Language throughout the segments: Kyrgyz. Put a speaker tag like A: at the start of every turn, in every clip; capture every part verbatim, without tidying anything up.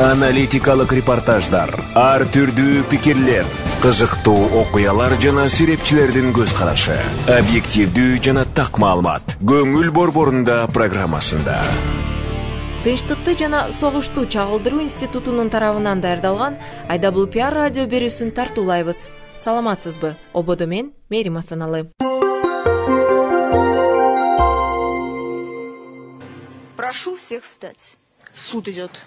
A: Аналитикалык репортаждар, ар түрдүү пикирлер, кызыктуу окуялар жана серепчилердин көз карашы, объективдүү жана так маалымат. Көңүл борборунда программасында.
B: Тынчтыкты жана согушту чагылдыруу институтунун тарабынан даярдалган ай дабл ю пи ар радио берүүсүн тартуулайбыз. Саламатсызбы? Ободо мен Мерим Асаналы.
C: Прошу всех встать. Суд идет.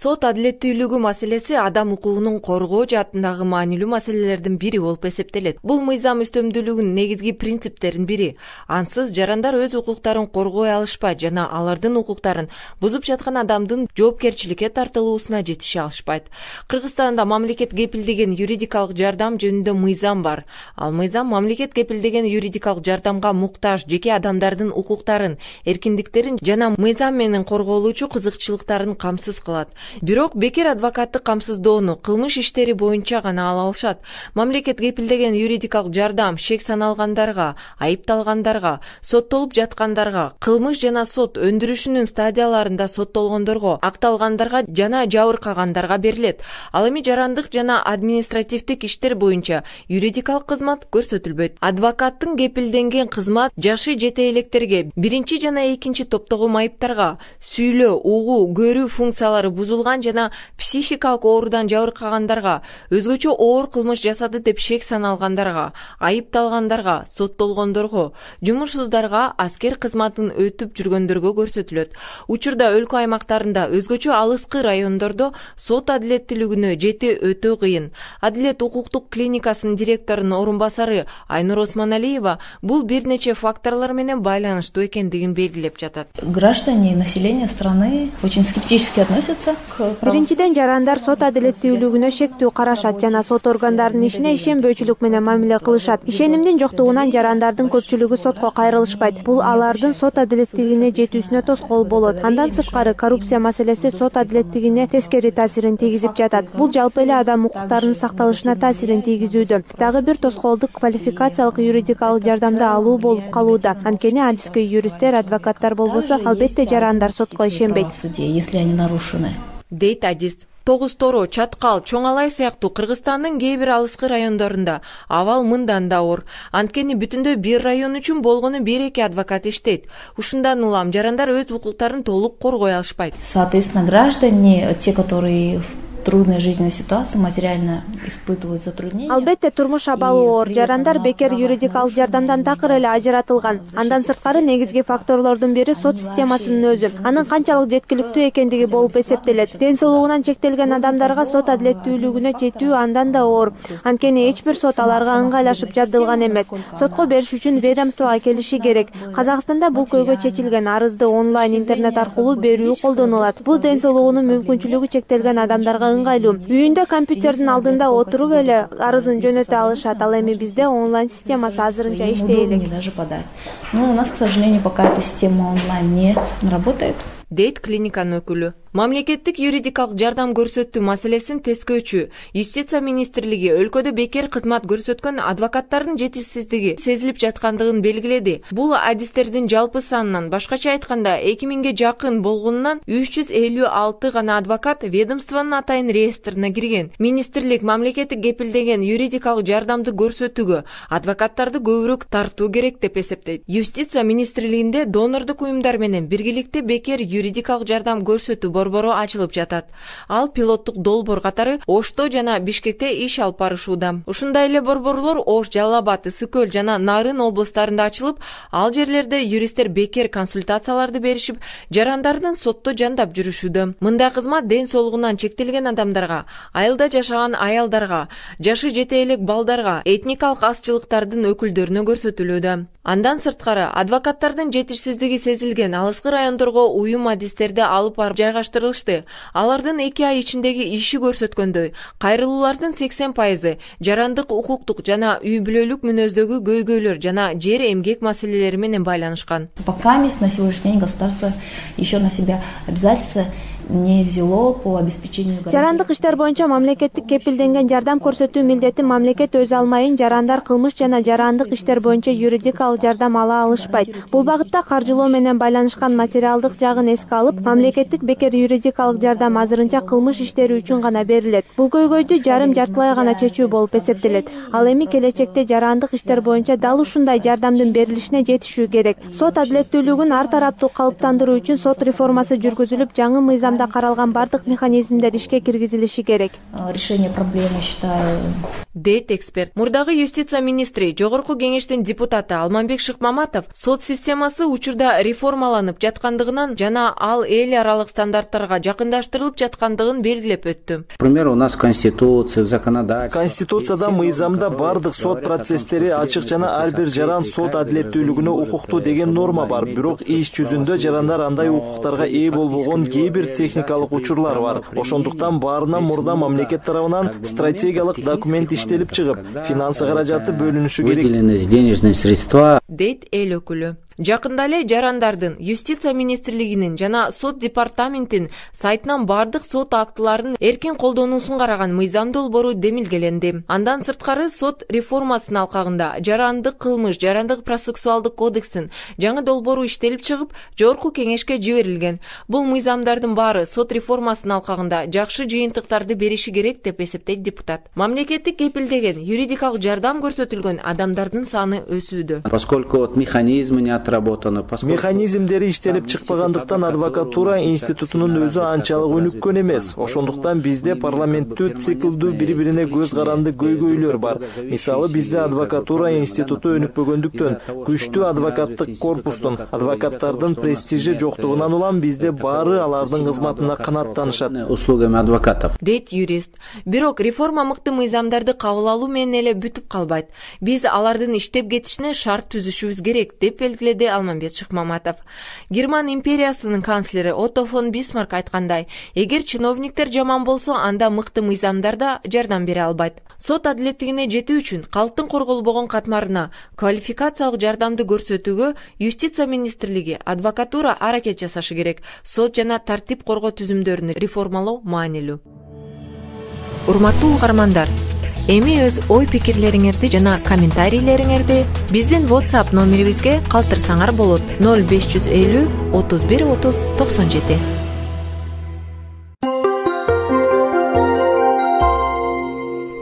B: Сот адилеттүүлүгү маселеси адам укугунун коргоо жаатындагы маанилүү маселелердин бири болуп эсептелет. Бул мыйзам үстөмдүүлүгүнүн негизги принциптеринин бири. Ансыз жарандар өз укуктарын коргой алышпайт жана алардын укуктарын бузуп жаткан адамдын жоопкерчиликке тартылуусуна жетише алышпайт. Кыргызстанда мамлекет кепилдеген юридикалык жардам жөнүндө мыйзам бар. Ал мыйзам мамлекет кепилдеген юридикалык жардамга муктаж жеке адамдардын укуктарын, эркиндиктерин жана мыйзам менен корголуучу кызыкчылыктарын камсыз кылат. Бирок бекер адвокаттык камсыздоону кылмыш иштери боюнча гана ала алышат. Мамлекет кепилдеген юридикалык жардам шек саналгандарга, айыпталгандарга, соттолуп жаткандарга, кылмыш жана сот өндүрүшүнүн стадияларында соттолгондорго, акталгандарга жана жабыркагандарга берилет. Ал эми жарандык жана административдик иштер боюнча юридикалык кызмат көрсөтүлбөйт. Адвокаттын кепилденген кызмат жашы жете электерге, биринчи жана экинчи топтогу майыптарга, сүйлөө, угуу, көрүү функциялары бузулган жана психикалык оорудан жабыркагандарга, өзгөчө оор кылмыш жасады деп шек саналгандарга, айыпталгандарга, соттолгондорго, жумушсуздарга, аскер кызматын өтүп жүргөндөргө көрсөтүлөт. Учурда өлкө аймактарында, өзгөчө алыскы райондордо сот адилеттүүлүгүнө жети өтө кыйын. Адилет укуктук клиникасынын директорунун орун басары Айнур Осмоналиева бул бир нече факторлор менен байланыштуу экендигин белгилеп жатат.
D: Граждане и население страны очень скептически относятся.
E: Биринчиден, жарандар сот адилеттүүлүгүнө шектүү карашат жана сот органдарынын ишине ишенбөөчүлүк менен мамиле кылышат. Ишенимдин жоктугунан жарандардын көпчүлүгү сотко кайрылышпайт. Бул алардын сот адилеттүүлүгүнө жетүүсүнө тоскоол болот. Андан сырткары, коррупция маселеси сот адилеттүүлүгүнө тескери таасирин тийгизип жатат. Бул жалпы эле адам укуктарынын сакталышына таасирин тийгизүүдө. Дагы бир тоскоолдук квалификациялык юридикалык жардамды алуу болуп калууда. Анткени адискөй юристтер, адвокаттар болбосо, албетте жарандар сотко ишенбейт.
D: Если они нарушены.
B: Дейт адис. Тогуз Торо, Чаткал, Чоң Алай сыяктуу Кыргызстандын кээ бир алыскы райондорунда абал мындан да оор. Анткени бүтүндө бир район үчүн болгону бир эки адвокат иштейт. Ушундан улам жарандар өз укуктарын толук коргой алышпайт.
D: Соответственно, граждане, те, которые трудной жизненной ситуации, материально испытывают затруднения.
E: Албетте турмуш абалы оор. Жарандар бекер юридикалык жардамдан такыр эле ажыратылган. Андан сырткары негизги факторлордун бири сот системасынын өзү. Анын канчалык жеткиликтүү экендиги болуп эсептелет. Ден соолугунан чектелген адамдарга сот адилеттүүлүгүнө жетүү андан да оор. Анткени эч бир сот аларга ыңгайлашып жабдылган эмес. Сотко бериш үчүн ведомствого келиши керек. Казакстанда бул көйгөй чечилген. Арызды онлайн интернет аркылуу берүү колдонулат. Бул ден соолугунун мүмкүнчүлүгү чектелген адамдарга ыңгайлуу. Үйүндө компьютердин алдында отуруп эле арызын жөнөтө алышат. Ал эми бизде онлайн системасы азырынча иштей элек.
D: Но у нас, к сожалению, пока эта система онлайн не работает.
B: Дейт клиниканын өкүлү. Мамлекеттик юридикалык жардам көрсөтүү маселесин тескөөчү Юстиция министрлиги өлкөдө бекер кызмат көрсөткөн адвокаттардын жетишсиздиги сезилип жаткандыгын белгиледи. Бул адистердин жалпы санынан, башкача айтканда эки миңге жакын болгонунан үч жүз элүү алты гана адвокат ведомствонун атайын реестрине кирген. Министрлик мамлекеттик кепилдеген юридикалык жардамды көрсөтүүгө адвокаттарды көбүрөөк тартуу керек деп эсептейт. Юстиция министрлигинде донордук уюмдар менен биргеликте бекер юридикалык жардам көрсөтүү борбору ачылып жатат. Ал пилоттук долбоор катары Ошто жана Бишкекте иш алып барышууда. Ушундай эле борборлор Ош, Жалал Абад, Ысык Көл жана Нарын облустарында ачылып, ал жерлерде юристтер бекер консультацияларды беришип, жарандардын сотто жандап жүрүшүүдө. Мындай кызмат ден соолугунан чектелген адамдарга, айылда жашаган аялдарга, жашы жете элек балдарга, этникалык азчылыктардын өкүлдөрүнө көрсөтүлүүдө. Андан сырткары, адвокаттардын жетишсиздиги сезилген алыскы райондорго уюм адистерди алып барып жайгаштырылышты. Алардын эки ай ичиндеги иши көрсөткөндөй, кайрылуулардын сексен пайызы жарандык, укуктук жана үй бүлөлүк мүнөздөгү көйгөйлөр жана жер эмгек маселелери менен байланышкан.
D: Пока на сегодняшний день государство еще на себя обязательства не взяло по обеспечению
E: жарандык иштер боюнча мамлекеттик кепилденген жардам көрсөтүү милдетин мамлекет өзү алмайын жарандар кылмыш жана жарандык иштер боюнча юридикалык жардам ала алышпайт. Бул багытта каржылоо менен байланышкан материалдык жагын эске алып, мамлекеттик бекер юридикалык жардам азырынча кылмыш иштери үчүн гана берилет. Бул көйгөйдү жарым жартылай гана чечүү болуп эсептелет. Ал эми келечекте жарандык иштер боюнча дал ушундай жардамдын берилишине жетишүү керек. Сот адилеттүүлүгүн ар тараптуу калыптандыруу үчүн сот реформасы жүргүзүлүп, жаңы мыйзамда каралган бардык механизмдер ишке киргизилиши керек.
D: Решение проблемы, считаю,
B: дейт эксперт. Мурдагы юстиция министри, жогорку кеңештин депутаты Алманбек Шыкмаматов сот системасы учурда реформаланып жаткандыгынан жана ал эл аралык стандарттарга жакындаштырылып жаткандыгын белгилеп өттү.
F: Например, у нас конституция, в законодательстве.
G: Конституцияда, мыйзамда бардык сот процесстери ачык жана ар бир жаран сот адилеттүүлүгүнө укуктуу деген норма бар. Бирок иш жүзүндө жарандар андай укуктарга ээ болбогон кээ бир техникалык учурлар бар. Ошондуктан баарынан мурда мамлекет тарабынан стратегиялык документ иштелип чыгып, финансы каражаты бөлүнүшү керек.
F: Выделены денежные средства,
B: дейт эл өкүлү. Жакында эле жарандардын юстиция министрлигинин жана сот департаментин сайтынан бардык сот актыларынын эркин колдонуусун караган мыйзам долбоору демилгеленди. Андан сырткары сот реформасынын алкагында жарандык кылмыш, жарандык процессуалдык кодекстин жаңы долбоору иштелип чыгып, жогорку кеңешке жиберилген. Бул мыйзамдардын баары сот реформасынын алкагында жакшы жыйынтыктарды бериши керек деп эсептейт депутат. Мамлекеттик кепилдеген юридикалык жардам көрсөтүлгөн адамдардын саны өсүүдө.
F: Поскольку вот механизмы не
G: Механизмдери иштелип чыкпагандыктан адвокатура институтунун өзү анчалык өнүккөн эмес. Ошондуктан бизде парламенттүү циклдүү бири-бирине көз каранды көйгөйлөр бар. Мисалы, бизде адвокатура институту өнүкпөгөндүктөн, күчтүү адвокаттык корпустун, адвокаттардын престижи жоктугунан улам бизде баары алардын кызматына канааттанышат.
F: Услугами адвокатов,
B: дейт юрист. Бирок реформа мыкты мыйзамдарды кабыл алуу менен эле бүтүп калбайт. Биз алардын иштеп кетишине шарт түзүшүбүз керек деп белгиледи Алманбек Шыкмаматов. Герман империясынын канцлери Отто фон Бисмарк айткандай, эгер чиновниктер жаман болсо, анда мыкты мыйзамдар да жардам бере албайт. Сот адилеттигине жетүү үчүн калктын корголбогон катмарына квалификациялык жардамды көрсөтүүгө юстиция министрлиги, адвокатура аракет жасашы керек. Сот жана тартип коргоо түзүмдөрүн реформалоо маанилүү. Урматтуу угармандар, эми өз ой пикирлериңерди жана комментарийлериңерди биздин WhatsApp номерибизге калтырсаңар болот. ноль беш жүз элүү отуз бир отуз токсон жети.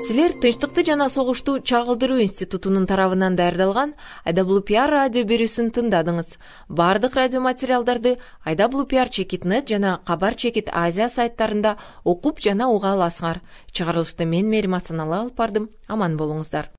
B: Силер Тынчтыкты жана согушту чагылдыруу институтунун тарабынан даярдалган ай дабл ю пи ар радио берүүсүн тыңдадыңыз. Бардык радио материалдарды ай дабл ю пи ар чекит нет жана Кабар чекит Азия сайттарында окуп жана уга аласыңар. Чыгарылышты мен Мерим Асаналы алып бардым. Аман болуңуздар.